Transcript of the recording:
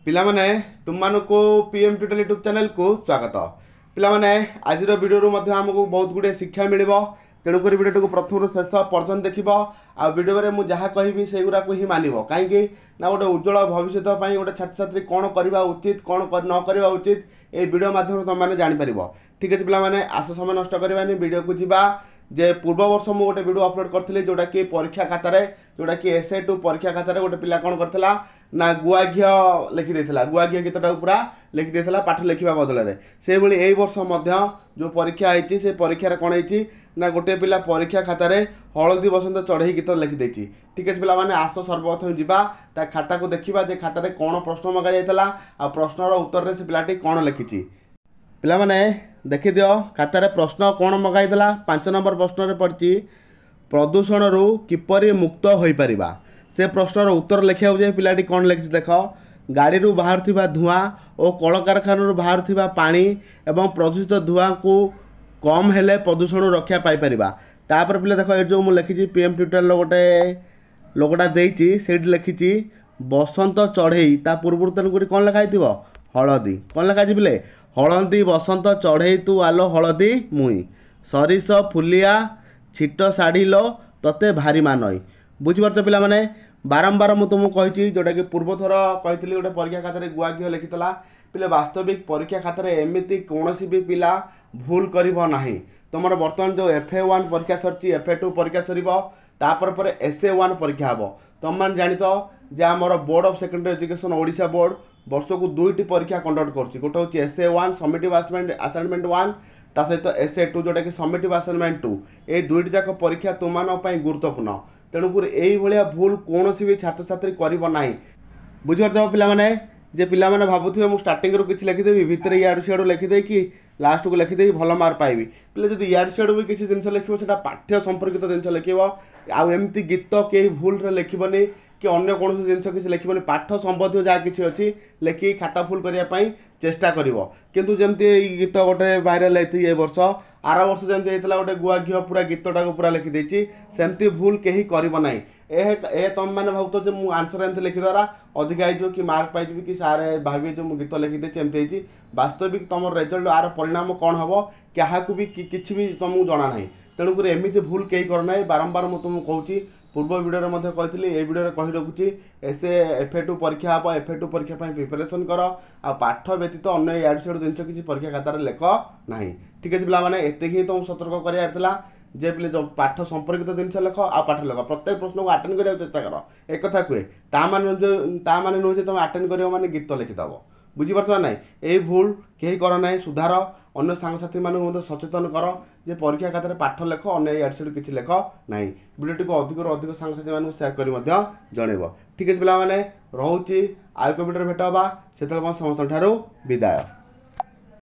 ପିଲାମାନେ, ତୁମମାନଙ୍କୁ PM tutorial YouTube ଚ୍ୟାନେଲକୁ ସ୍ୱାଗତ। ପିଲାମାନେ, ଆଜିର ଭିଡ଼ିଓରୁ ମଧ୍ୟ ଆମକୁ ବହୁତ ଗୁଡ଼ିଏ ଶିକ୍ଷା ମିଳିବ। ତେଣୁକରି ଭିଡ଼ିଓଟିକୁ ପ୍ରଥମରୁ ଶେଷ ପର୍ଯ୍ୟନ୍ତ ଦେଖିବ ଆଉ ଭିଡ଼ିଓରେ ମୁଁ ଯାହା କହିବି ସେଇଗୁଡ଼ାକୁ ହିଁ ମାନିବ। କାହିଁକି ନା ଗୋଟେ ଉଜ୍ଜଳ ଭବିଷ୍ୟତ ପାଇଁ ଗୋଟେ ଛାତ୍ରଛାତ୍ରୀ କ'ଣ କରିବା ଉଚିତ, କ'ଣ ନ କରିବା ଉଚିତ, ଏଇ ଭିଡ଼ିଓ ମାଧ୍ୟମରେ ତୁମେମାନେ ଜାଣିପାରିବ। ଠିକ୍ ଅଛି ପିଲାମାନେ, ଆସ, ସମୟ ନଷ୍ଟ କରିବାନି, ଭିଡ଼ିଓକୁ ଯିବା। ଯେ ପୂର୍ବ ବର୍ଷ ମୁଁ ଗୋଟେ ଭିଡ଼ିଓ ଅପଲୋଡ଼ କରିଥିଲି, ଯେଉଁଟାକି ପରୀକ୍ଷା ଖାତାରେ, ଯେଉଁଟାକି SA 2 ପରୀକ୍ଷା ଖାତାରେ ଗୋଟେ ପିଲା କ'ଣ କରିଥିଲା ନା ଗୁଆ ଘିଅ ଲେଖିଦେଇଥିଲା, ଗୁଆ ଘିଅ ଗୀତଟାକୁ ପୁରା ଲେଖିଦେଇଥିଲା ପାଠ ଲେଖିବା ବଦଳରେ। ସେଇଭଳି ଏଇ ବର୍ଷ ମଧ୍ୟ ଯେଉଁ ପରୀକ୍ଷା ହେଇଛି, ସେ ପରୀକ୍ଷାରେ କ'ଣ ହେଇଛି ନା ଗୋଟେ ପିଲା ପରୀକ୍ଷା ଖାତାରେ ହଳଦୀ ବସନ୍ତ ଚଢ଼େଇ ଗୀତ ଲେଖିଦେଇଛି। ଠିକ୍ ଅଛି ପିଲାମାନେ, ଆସ ସର୍ବପ୍ରଥମେ ଯିବା ତା ଖାତାକୁ ଦେଖିବା ଯେ ଖାତାରେ କ'ଣ ପ୍ରଶ୍ନ ମଗାଯାଇଥିଲା ଆଉ ପ୍ରଶ୍ନର ଉତ୍ତରରେ ସେ ପିଲାଟି କ'ଣ ଲେଖିଛି। ପିଲାମାନେ, ଦେଖିଦିଅ ଖାତାରେ ପ୍ରଶ୍ନ କ'ଣ ମଗାଇଥିଲା। 5 ନମ୍ବର ପ୍ରଶ୍ନରେ ପଡ଼ିଛି, ପ୍ରଦୂଷଣରୁ କିପରି ମୁକ୍ତ ହୋଇପାରିବା? ସେ ପ୍ରଶ୍ନର ଉତ୍ତର ଲେଖିବାକୁ ଯାଇ ପିଲାଟି କ'ଣ ଲେଖିଛି ଦେଖ। ଗାଡ଼ିରୁ ବାହାରୁଥିବା ଧୂଆଁ ଓ କଳକାରଖାନାରୁ ବାହାରୁଥିବା ପାଣି ଏବଂ ପ୍ରଦୂଷିତ ଧୂଆଁକୁ କମ୍ ହେଲେ ପ୍ରଦୂଷଣରୁ ରକ୍ଷା ପାଇପାରିବା। ତାପରେ ପିଲା ଦେଖ, ଏଠି ଯେଉଁ ମୁଁ ଲେଖିଛି, ପିଏମ୍ ଟ୍ୟୁଟୋରିଆଲର ଗୋଟେ ଲୋକଟା ଦେଇଛି, ସେଇଠି ଲେଖିଛି ବସନ୍ତ ଚଢ଼େଇ। ତା ପୂର୍ବରୁ ତେଣୁକରି କ'ଣ ଲେଖା ହେଇଥିବ? ହଳଦୀ। କ'ଣ ଲେଖା ହେଇଛି ପିଲେ? ହଳଦୀ ବସନ୍ତ ଚଢ଼େଇ ତୁ ଆଲୋ ହଳଦୀ ମୁଇଁ, ସରିଷ ଫୁଲିଆ ଛିଟ ଶାଢ଼ୀ ଲୋ ତତେ ଭାରି ମାନଇ। ବୁଝିପାରୁଛ ପିଲାମାନେ? ବାରମ୍ବାର ମୁଁ ତୁମକୁ କହିଛି, ଯେଉଁଟାକି ପୂର୍ବଥର କହିଥିଲି, ଗୋଟେ ପରୀକ୍ଷା ଖାତାରେ ଗୁଆ ଘିଅ ଲେଖିଥିଲା ପିଲା। ବାସ୍ତବିକ ପରୀକ୍ଷା ଖାତାରେ ଏମିତି କୌଣସି ବି ପିଲା ଭୁଲ କରିବ ନାହିଁ। ତୁମର ବର୍ତ୍ତମାନ ଯେଉଁ FA 1 ପରୀକ୍ଷା ସରିଛି, FA 2 ପରୀକ୍ଷା ସରିବ, ତାପରେ ପରେ SA 1 ପରୀକ୍ଷା ହେବ। ତୁମେମାନେ ଜାଣିଛ ଯେ ଆମର board of secondary education, Odisha board ବର୍ଷକୁ ଦୁଇଟି ପରୀକ୍ଷା କଣ୍ଡକ୍ଟ କରୁଛି। ଗୋଟେ ହେଉଛି SA 1, summative assignment 1, ତା ସହିତ SA 2, ଯେଉଁଟାକି ସମିଟିଭ୍ ଆସାଇନମେଣ୍ଟ 2। ଏଇ ଦୁଇଟି ଯାକ ପରୀକ୍ଷା ତୁମମାନଙ୍କ ପାଇଁ ଗୁରୁତ୍ୱପୂର୍ଣ୍ଣ। ତେଣୁକରି ଏଇଭଳିଆ ଭୁଲ କୌଣସି ବି ଛାତ୍ରଛାତ୍ରୀ କରିବ ନାହିଁ। ବୁଝିପାରୁଛ ପିଲାମାନେ? ଯେ ପିଲାମାନେ ଭାବୁଥିବେ ମୁଁ ଷ୍ଟାର୍ଟିଂରୁ କିଛି ଲେଖିଦେବି, ଭିତରେ ଇଆଡ଼ୁ ସିଆଡ଼ୁ ଲେଖିଦେଇକି ଲାଷ୍ଟକୁ ଲେଖିଦେଇ ଭଲ ମାର୍କ ପାଇବି। ପିଲା, ଯଦି ଇଆଡ଼ୁ ସିଆଡ଼ୁ ବି କିଛି ଜିନିଷ ଲେଖିବ, ସେଇଟା ପାଠ୍ୟ ସମ୍ପର୍କିତ ଜିନିଷ ଲେଖିବ। ଆଉ ଏମିତି ଗୀତ କେହି ଭୁଲରେ ଲେଖିବନି କି ଅନ୍ୟ କୌଣସି ଜିନିଷ କିଛି ଲେଖିବନି। ପାଠ ସମ୍ବନ୍ଧୀୟ ଯାହା କିଛି ଅଛି ଲେଖିକି ଖାତା ଫୁଲ୍ କରିବା ପାଇଁ ଚେଷ୍ଟା କରିବ। କିନ୍ତୁ ଯେମିତି ଏଇ ଗୀତ ଗୋଟେ ଭାଇରାଲ୍ ହେଇଛି ଏ ବର୍ଷ, ଆର ବର୍ଷ ଯେମିତି ହେଇଥିଲା, ଗୋଟେ ଗୁଆ ଘିଅ ପୁରା ଗୀତଟାକୁ ପୁରା ଲେଖିଦେଇଛି, ସେମିତି ଭୁଲ କେହି କରିବ ନାହିଁ। ଏ ତୁମେମାନେ ଭାବୁଛ ଯେ ମୁଁ ଆନ୍ସର୍ ଏମିତି ଲେଖିଦ୍ୱାରା ଅଧିକା ହେଇଯିବ କି ମାର୍କ ପାଇଯିବି କି ସାର୍ ଭାବିବେ ଯେ ମୁଁ ଗୀତ ଲେଖିଦେଇଛି, ଏମିତି ହେଇଛି। ବାସ୍ତବିକ ତୁମର ରେଜଲ୍ଟ ଆର ପରିଣାମ କ'ଣ ହେବ କାହାକୁ ବି କିଛି ବି ତୁମକୁ ଜଣା ନାହିଁ। ତେଣୁକରି ଏମିତି ଭୁଲ କେହି କର ନାହିଁ। ବାରମ୍ବାର ମୁଁ ତୁମକୁ କହୁଛି, ପୂର୍ବ ଭିଡ଼ିଓରେ ମଧ୍ୟ କହିଥିଲି, ଏଇ ଭିଡ଼ିଓରେ କହି ରଖୁଛି, FA 2 ପରୀକ୍ଷା ହେବ। FA 2 ପରୀକ୍ଷା ପାଇଁ ପ୍ରିପାରେସନ୍ କର ଆଉ ପାଠ ବ୍ୟତୀତ ଅନ୍ୟ ଇଆଡ଼ୁ ସିଆଡ଼ୁ ଜିନିଷ କିଛି ପରୀକ୍ଷା ଖାତାରେ ଲେଖ ନାହିଁ। ଠିକ୍ ଅଛି ପିଲାମାନେ, ଏତିକି ହିଁ ତୁମକୁ ସତର୍କ କରିବାର ଥିଲା ଯେ ପିଲେ ପାଠ ସମ୍ପର୍କିତ ଜିନିଷ ଲେଖ ଆଉ ପାଠ ଲେଖ। ପ୍ରତ୍ୟେକ ପ୍ରଶ୍ନକୁ ଆଟେଣ୍ଡ କରିବାକୁ ଚେଷ୍ଟା କର, ଏକଥା କୁହେ। ତା ମାନେ ନୁହେଁ ଯେ ତୁମେ ଆଟେଣ୍ଡ କରିବ ମାନେ ଗୀତ ଲେଖିଦେବ। ବୁଝିପାରୁଛ ନା ନାହିଁ? ଏଇ ଭୁଲ କେହି କର ନାହିଁ, ସୁଧାର। ଅନ୍ୟ ସାଙ୍ଗସାଥିମାନଙ୍କୁ ମଧ୍ୟ ସଚେତନ କର ଯେ ପରୀକ୍ଷା ଖାତାରେ ପାଠ ଲେଖ, ଅନ୍ୟ ଇଆଡ଼ୁ ସିଆଡ଼ୁ କିଛି ଲେଖ ନାହିଁ। ଭିଡ଼ିଓଟିକୁ ଅଧିକରୁ ଅଧିକ ସାଙ୍ଗସାଥିମାନଙ୍କୁ ସେୟାର କରି ମଧ୍ୟ ଜଣାଇବ। ଠିକ୍ ଅଛି ପିଲାମାନେ, ରହୁଛି। ଆଉ ଏକ ଭିଡ଼ିଓରେ ଭେଟ ହେବା, ସେତେବେଳେ ସମସ୍ତଙ୍କ ଠାରୁ ବିଦାୟ।